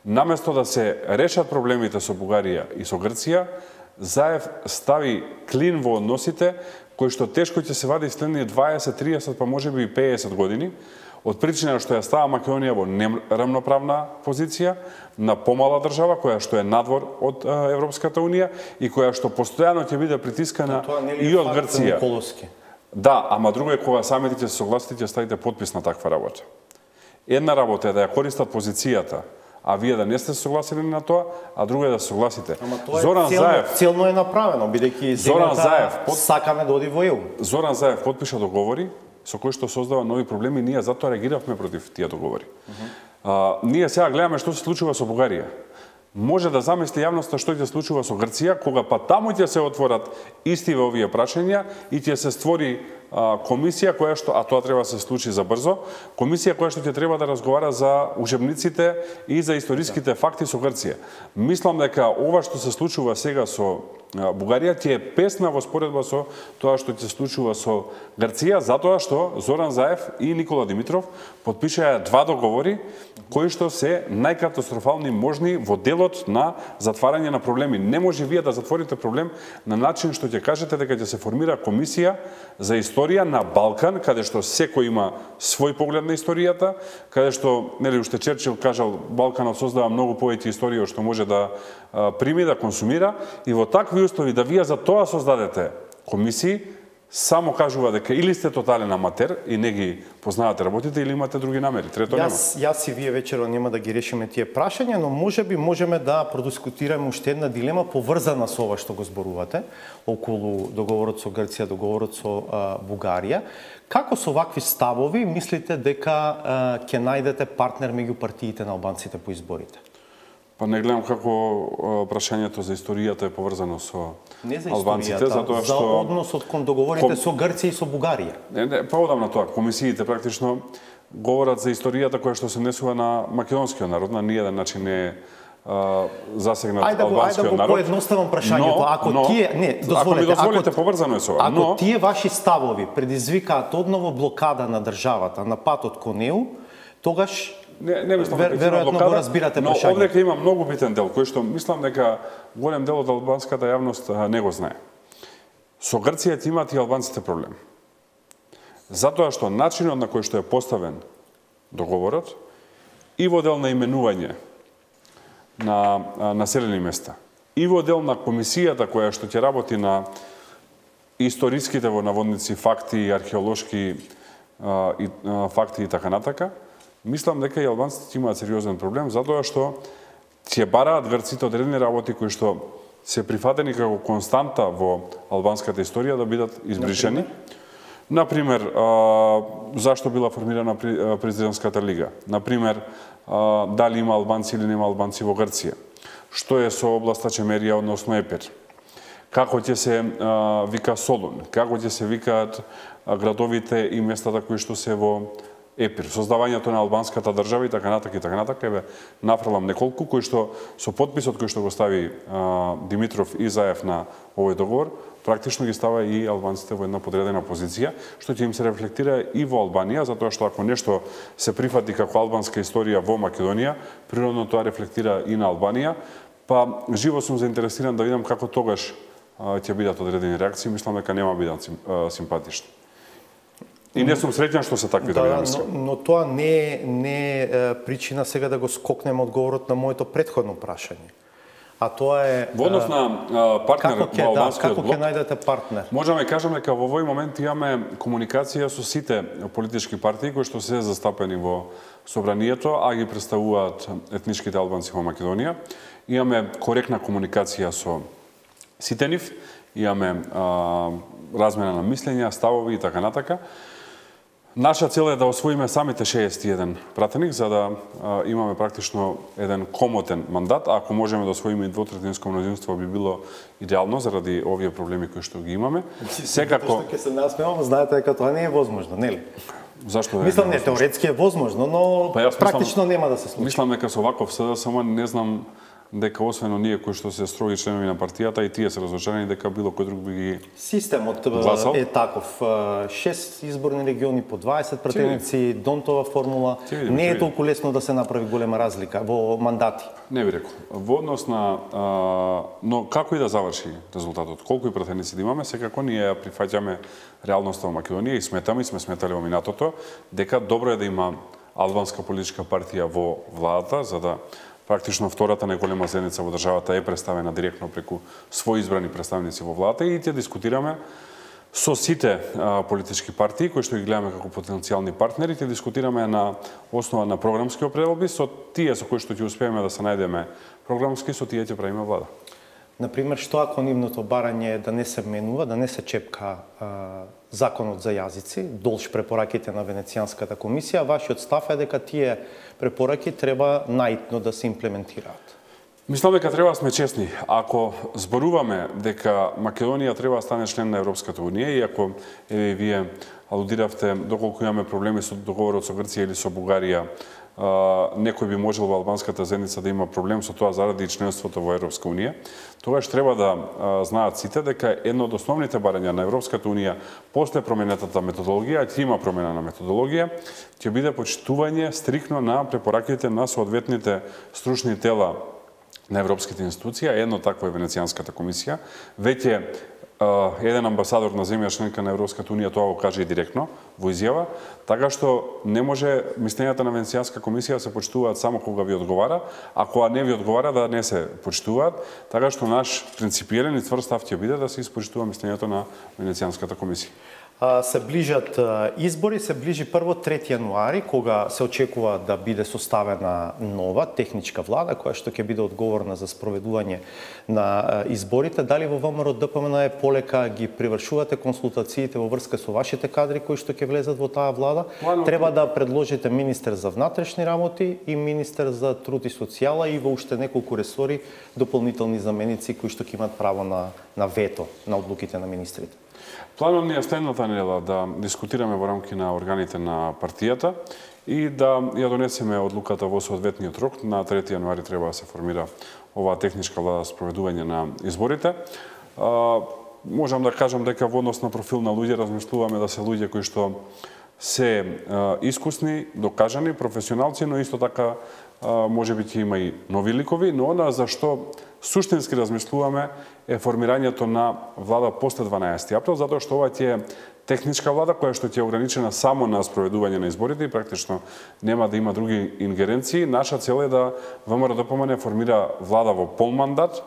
Наместо да се решат проблемите со Бугарија и со Грција, Заев стави клин во односите кои што тешко ќе се вади следни дваесет, триесет, па можеби и пеесет години, од причина што ја става Македонија во неравноправна позиција на помала држава која што е надвор од Европската унија и која што постојано ќе биде притискана и од Грција. Да, ама друго е кога самите ќе се согласите ќе ставите подпис на таква работа. Една работа е да ја користат позицијата, а вие да не сте согласени на тоа, а друго е да се согласите. Ама тоа Зоран е целно, Заев, целно е направено, бидејќи Зоран Заев под... сакаме да оди во Е У. Зоран Заев подпиша договори со кои што создава нови проблеми, ние затоа реагиравме против тие договори. Uh -huh. а, ние сега гледаме што се случува со Бугарија. Може да замисли јавноста што ќе се случува со Грција, кога па таму ќе се отворат истиве овие прашања и ќе се створи а, комисија која што, а тоа треба да се случи за брзо, комисија која што ќе треба да разговара за учебниците и за историските факти со Грција. Мислам дека ова што се случува сега со Бугарија ќе е песна во споредба со тоа што ќе се случува со Грција, затоа што Зоран Заев и Никола Димитров подпишаа два договори кои што се најкатастрофални можни во делот на затварање на проблеми. Не може вие да затворите проблем на начин што ќе кажете дека ќе се формира комисија за историја на Балкан, каде што секој има свој поглед на историјата, каде што, нели, уште Черчил кажал, Балканот создава многу повеќе историја што може да а, прими, да консумира, и во такви услови да вие за тоа создадете комисии, само кажува дека или сте тотален аматер и не ги познавате работите, или имате други намери. Трето нема. Јас, јас и вие вечерва нема да ги решиме тие прашања, но можеби можеме да продискутираме уште една дилема поврзана со ова што го зборувате, околу договорот со Грција, договорот со а, Бугарија. Како со вакви ставови мислите дека а, ќе најдете партнер меѓу партиите на албанците по изборите? Па не гледам како прашањето за историјата е поврзано со не за албанците, затоа што за односот кон договорите ком... со Грција и со Бугарија. Не, не, па одам на тоа. Комисиите практично говорат за историјата која што се несува на македонскиот народ, на ниеден начин не е засегнат ајде албанскиот ајде народ. Поедноставам прашањето, но, ако но, тие, не, дозволете, ако ми дозволите, ако, поврзано е со ова. Ако но... тие ваши ставови предизвикаат одново блокада на државата на патот кон Е У, тогаш Не, не мислам Вер, дека веројатно го разбирате но прашањето. овдека има многу битен дел, кој што мислам дека голем дел од албанската јавност не го знае. Со Грција имаат и албанците проблем. Затоа што начинот на кој што е поставен договорот и во дел на именување на населени места, и во дел на комисијата која што ќе работи на историските во наводници факти, археолошки а, и, а, факти и така натака, мислам дека и албанците имаат сериозен проблем, затоа што ќе бараат грците одредени работи кои што се прифатени како константа во албанската историја да бидат избришени. Например, а, зашто била формирана президентската лига? Например, а, дали има албанци или нема албанци во Грција? Што е со областа Чемерија, односно Епир? Како ќе се а, вика Солун? Како ќе се викаат а, градовите и местата кои што се во ЕПИР, создавањето на албанската држава и така натака и така натака, еве нафрлам неколку кои што со подписот кој што го стави а, Димитров и Заев на овој договор, практично ги става и албанците во една подредена позиција, што ќе им се рефлектира и во Албанија, затоа што ако нешто се прифати како албанска историја во Македонија, природно тоа рефлектира и на Албанија, па живо сум заинтересиран да видам како тогаш а, ќе бидат одредени реакции, мислам дека нема бидат симпатични. И не сум среќен што се такви да, dinamики. но, но тоа не е, не е причина сега да го скокнеме одговорот на моето претходно прашање. А тоа е Во однос на а, партнер како ќе во да, албанскиот како блок, ќе најдете партнер? можеме да кажеме дека во овој момент имаме комуникација со сите политички партии кои што се застапени во собранието, а ги представуваат етничките албанци во Македонија. Имаме коректна комуникација со сите нив, имаме а, размена на мислења, ставови и така натака. Наша цел е да освоиме самите шеесет и еден пратеник, за да а, имаме практично еден комотен мандат. А ако можеме да освоиме и двотретинско мнозинство, би било идеално заради овие проблеми кои што ги имаме. Секако Што ќе се насмевам, знаете дека тоа не е возможно, нели? Зашто да Мислам не теоретски е возможно, но Па јас практично мислам- нема да се случи. Мислам дека со ваков СДСМ не знам дека освен оние кои што се строги членови на партијата и тие се разочарани дека било кој друг би ги Системот Гласал? е таков. шест изборни региони по дваесет пратеници, Донтова формула. Ќе видиме, Не ќе е видиме. толку лесно да се направи голема разлика во мандати. Не би рекол. Во однос на а, но како и да заврши резултатот, колку и пратеници да имаме, секако ние ја прифаќаме реалноста во Македонија и сметаме и сме сметали во минатото дека добро е да има албанска политичка партија во владата, за да практично втората најголема заедница во државата е представена директно преку своји избрани представници во владата и ќе дискутираме со сите а, политички партии кои што ги гледаме како потенцијални партнери, ќе дискутираме на основа на програмски определби со тие со кои што ќе успееме да се најдеме програмски, со тие ќе правиме влада. Например, што ако нивното барање е да не се менува, да не се чепка а, законот за јазици, долж препораките на Венецијанската комисија, вашиот став е дека тие препораки треба наитно да се имплементираат? Мислам дека треба да сме честни. Ако зборуваме дека Македонија треба да стане член на Европската унија и ако еве вие алудиравте доколку имаме проблеми со договорот со Грција или со Бугарија, Uh, некој би можел во албанската заедница да има проблем со тоа заради членството во Европска унија, тогаш треба да uh, знаат сите дека едно од основните барања на Европската унија после променетата методологија, ќе има промена на методологија, ќе биде почитување стрикно на препораките на соодветните стручни тела на европските институции, едно такво е Венецијанската комисија. Веќе Uh, еден амбасадор на земја членка на Европската унија тоа го каже и директно во изјава, така што не може мислењата на Венецијанска комисија да се почитуваат само кога ви одговара, а кога не ви одговара да не се почитуваат, така што наш принципиелен и цврст став ќе биде да се испочитува мислењето на Венецијанската комисија. А, се ближат а, избори, се ближи прво трети јануари, кога се очекува да биде составена нова техничка влада, која што ќе биде одговорна за спроведување на а, изборите. Дали во ВМРО ДПМН е полека ги привршувате консултациите во врска со вашите кадри кои што ќе влезат во таа влада? Плано... Треба да предложите министер за внатрешни работи и министер за труд и социјала и во уште неколку ресори дополнителни заменици кои што ќе имат право на, на вето на одлуките на министрите. Планот ни е следната недела да дискутираме во рамки на органите на партијата и да ја донесеме одлуката во соодветниот рок. На трети јануари треба да се формира оваа техничка влада за спроведување на изборите. А, можам да кажам дека во однос на профил на луѓе размислуваме да се луѓе кои што се а, искусни, докажани, професионалци, но исто така а, може би ќе има и нови ликови, но она за што суштински размислуваме е формирањето на влада после дванаесети април, затоа што ова ќе е техничка влада која што ќе е ограничена само на спроведување на изборите и практично нема да има други ингеренции. Наша цел е да ВМРО ДПМН формира влада во пол мандат,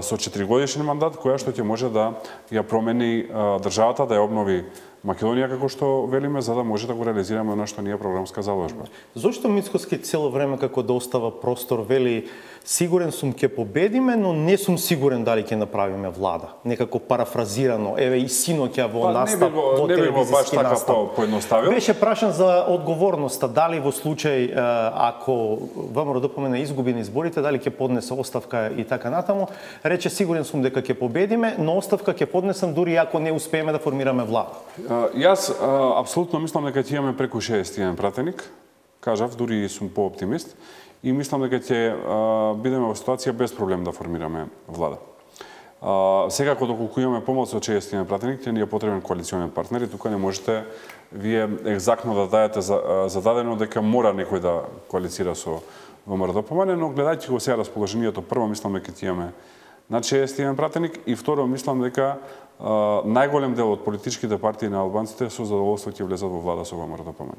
со четиригодишен мандат, која што ќе може да ја промени државата, да ја обнови Македонија, како што велиме, за да може да го реализираме она што ни е програмска заложба. Зошто Мицкоски цело време како да остава простор вели сигурен сум ќе победиме, но не сум сигурен дали ќе направиме влада? Некако парафразирано, еве и синоќа во Па, настап, не во не би го баш телевизиски така настап. по, поедноставил. Беше прашан за одговорноста, дали во случај ако ВМРО ДПМН изгуби на изборите, дали ќе поднесе оставка и така натаму, рече сигурен сум дека ќе победиме, но оставка ќе поднесам дури ако не успееме да формираме влада. Јас а, апсолутно мислам дека ќе имаме преку шеесет еден пратеник. Кажав, дури сум пооптимист и мислам дека ќе а, бидеме во ситуација без проблем да формираме влада. А, секако доколку имаме помалку од шеесет еден пратеник, ќе ни е потребен коалиционен партнер и тука не можете вие екзактно да дадете зададено дека мора некој да коалицира со ВМРО-ДПМН, но гледајќи го сега расположението, прво мислам дека ќе имаме над шеесет еден пратеник и второ мислам дека а, најголем дел од политичките партии на албанците со задоволство ќе влезат во влада со ВМРО-ДПМН.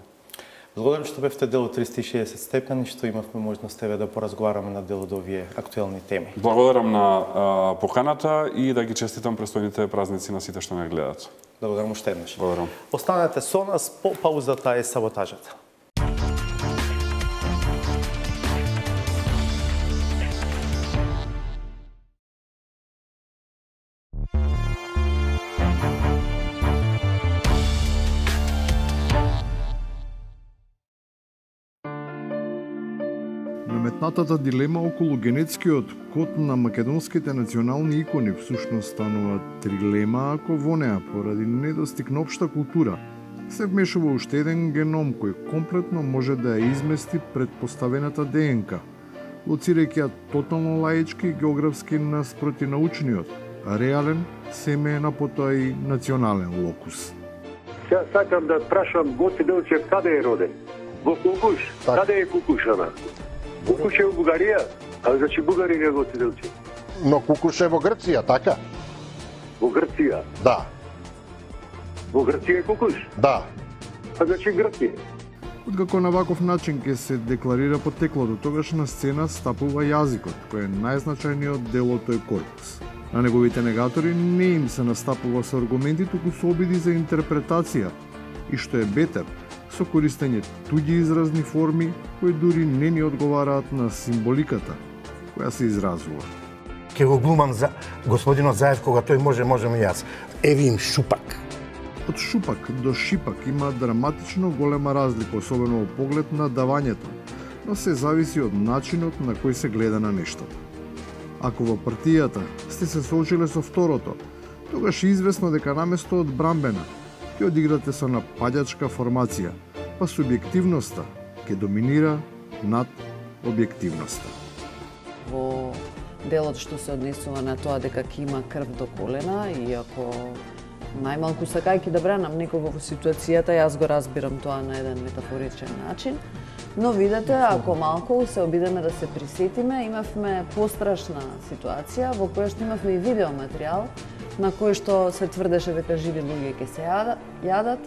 Благодарам што бевте дел од триста и шеесет степени, што имавме можност еве да поразговараме на дел од овие актуелни теми. Благодарам на а, поканата и да ги честитам престојните празници на сите што не гледат. Благодарам уште еднаш. Благодарам. Останете со нас, по паузата е саботажата. Наметнатата дилема околу генетскиот код на македонските национални икони всушност станува трилема ако во неа поради недостиг на општа култура се вмешува уште еден геном кој комплетно може да ја измести предпоставената ДНК, лоцирајќи ја тотално лаички и географски наспроти научниот, а реален семеен, а потоа и национален локус. Сега сакам да прашам Гоце Делчев каде е роден? Во Кукуш. Так. Каде е Кукушана? Кукуш е во Бугарија, а значи бугарин е Гоце Делчев. Но Кукуш е во Грција, така? Во Грција? Да. Во Грција е Кукуш? Да. А значи Грција. Откако на ваков начин ќе се декларира потеклото, тогаш на сцена стапува јазикот, кој е најзначајниот дел од тој корпус. На неговите негатори не им се настапува со аргументи, туку со обиди за интерпретација и што е бетер, со користење туѓи изразни форми кои дури не ни одговараат на символиката која се изразува. Ке го глумам за господинот Заев кога тој може, можем и јас. Еви им шупак. Од шупак до шипак има драматично голема разлика, особено во поглед на давањето, но се зависи од начинот на кој се гледа на нештата. Ако во партијата сте се соочиле со второто, тогаш е известно дека наместо од брамбена ќе одиграте со нападачка формација, па субјективноста ќе доминира над објективноста. Во делот што се однесува на тоа дека ќе има крв до колена, и ако најмалку сакајќи да бранам некого во ситуацијата, јас го разбирам тоа на еден метафоричен начин, но видете, ако малку се обидеме да се присетиме, имавме пострашна ситуација во која што имавме и видеоматеријал на кој што се тврдеше дека живи луѓе ќе се јадат.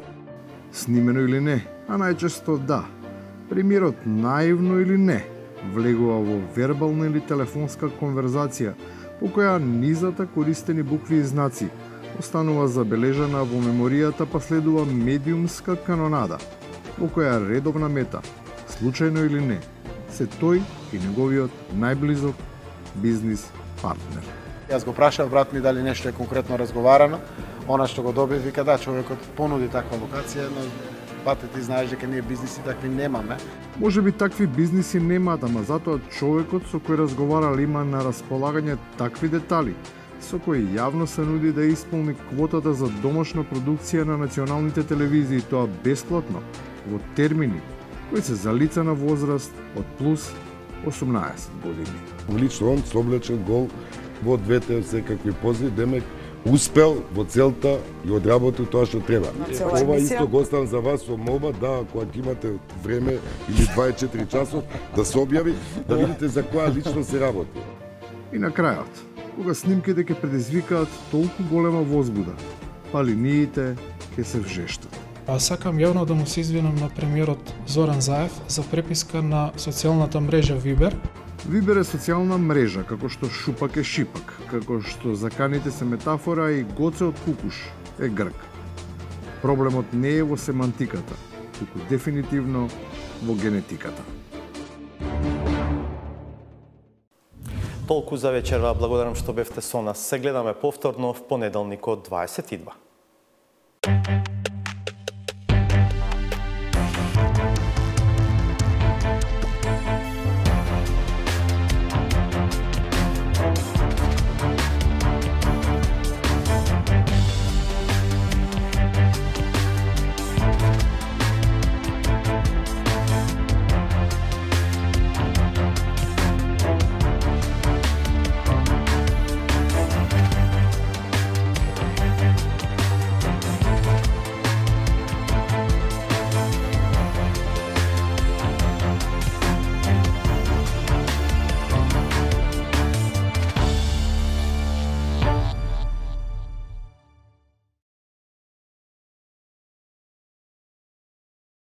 Снимено или не, а најчесто да. Премиерот наивно или не влегува во вербална или телефонска конверзација по која низата користени букви и знаци останува забележана во меморијата, па следува медиумска канонада во која редовна мета, случајно или не, се тој и неговиот најблизок бизнис партнер. Јас го прашав брат ми дали нешто е конкретно разговарано. Она што го доби вика да, човекот понуди таква локација, но бате ти знаеш дека ние бизниси такви немаме. Може би такви бизниси немаат, ама затоа човекот со кој разговарал има на располагање такви детали, со кои јавно се нуди да исполни квотата за домашна продукција на националните телевизии, тоа бесплатно, во термини кои се за лица на возраст од плюс осумнаесет години. Лично он соблечен гол во двете секакви пози, демек успел во целта и одработил тоа што треба. Ова исто го оставам за вас со молба да, ако имате време или дваесет и четири часот, да се објави, да видите за која лично се работи. И на крајот, кога снимките ќе предизвикаат толку голема возбуда, па линиите ќе се вжештат. Сакам јавно да му се извинам на премиерот Зоран Заев за преписка на социјалната мрежа Вибер. Вибер е социјална мрежа, како што шупак е шипак, како што заканите се метафора и Гоце од Кукуш е грк. Проблемот не е во семантиката, туку дефинитивно во генетиката. Толку за вечерва, благодарам што бевте со нас. Се гледаме повторно в понеделникот дваесет и два.